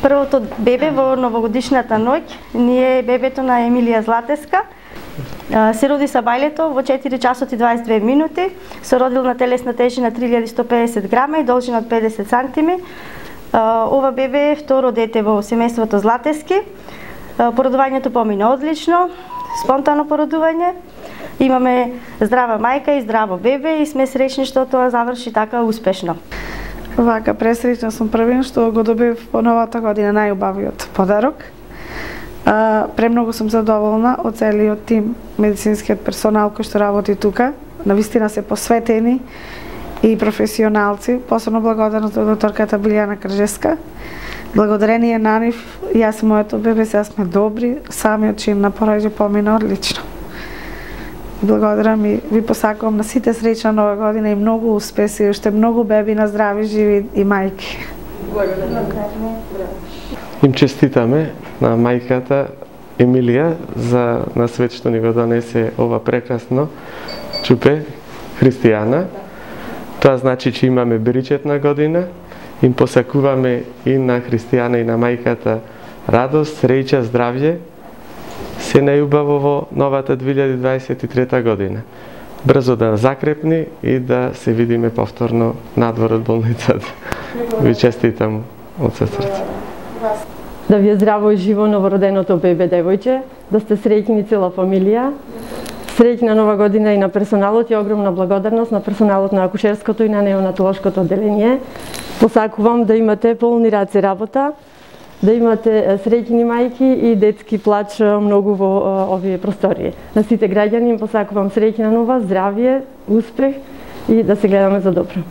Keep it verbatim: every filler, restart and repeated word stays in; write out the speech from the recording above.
Првото бебе во новогодишната ноќ ни е бебето на Емилија Златеска. Се роди са бајлето во четири часот и дваесет и две минути, со родилна телесна тежина три илјади и сто педесет грама и должина од педесет сантими. Ова бебе е второ дете во семејството Златески. Породувањето помина одлично, спонтано породување. Имаме здрава мајка и здраво бебе и сме среќни што тоа заврши така успешно. Вака, пресреќна сум првин што го добив во новата година најубавиот подарок. А, премногу сум задоволна од целиот тим, медицинскиот персонал кој што работи тука. Навистина се посветени и професионалци. Посебно благодарност до докторката Билјана Кржеска. Благодарение на нив, јас и моето бебе сега сме добри, самиот чин на пороѓање помина одлично. Благодарам и ви посакувам на сите среќна нова година и многу успеси, уште многу беби на здрави, живи и мајки. Им честитаме на мајката Емилија за на свет што ни го донесе ова прекрасно чупе христијана. Тоа значи че имаме беричетна година. Им посакуваме и на христијана и на мајката радост, среќа, здравје. Се најубаво во новата две илјади дваесет и трета година. Брзо да закрепни и да се видиме повторно надвор од болницата. Ви честитам од се срце. Да ви е здраво и живо новороденото бебе девојче, да сте среќни цела фамилија. Среќна нова година и на персоналот и огромна благодарност на персоналот на акушерското и на неонатолошкото одделение. Посакувам да имате полни раце работа, да имате среќни мајки и детски плач многу во овие простории. На сите граѓани им посакувам среќна нова, здравје, успех и да се гледаме за добро.